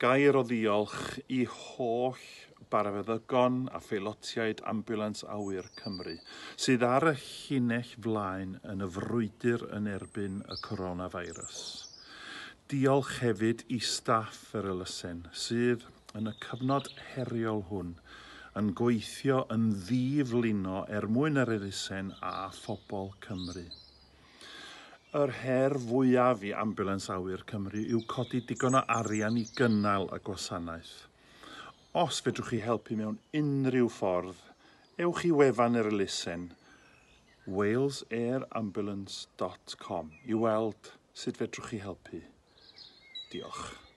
Gair o ddiolch i holl barafeddygon a pheilotiaid Ambiwlans Awyr Cymru sydd ar y llinell flaen yn y frwydr yn erbyn y coronavirus. Diolch hefyd i staff yr elusen sydd yn y cyfnod heriol hwn yn gweithio yn ddiflino er mwyn yr elusen a phobl Cymru. Yr her fwyaf i Ambiwlans Awyr Cymru yw codi digon o arian i gynnal y gwasanaeth. Os fedrwch chi helpu mewn unrhyw ffordd, ewch i wefan yr elusen walesairambulancecomi weld sut fedrwch chi helpu. Diolch.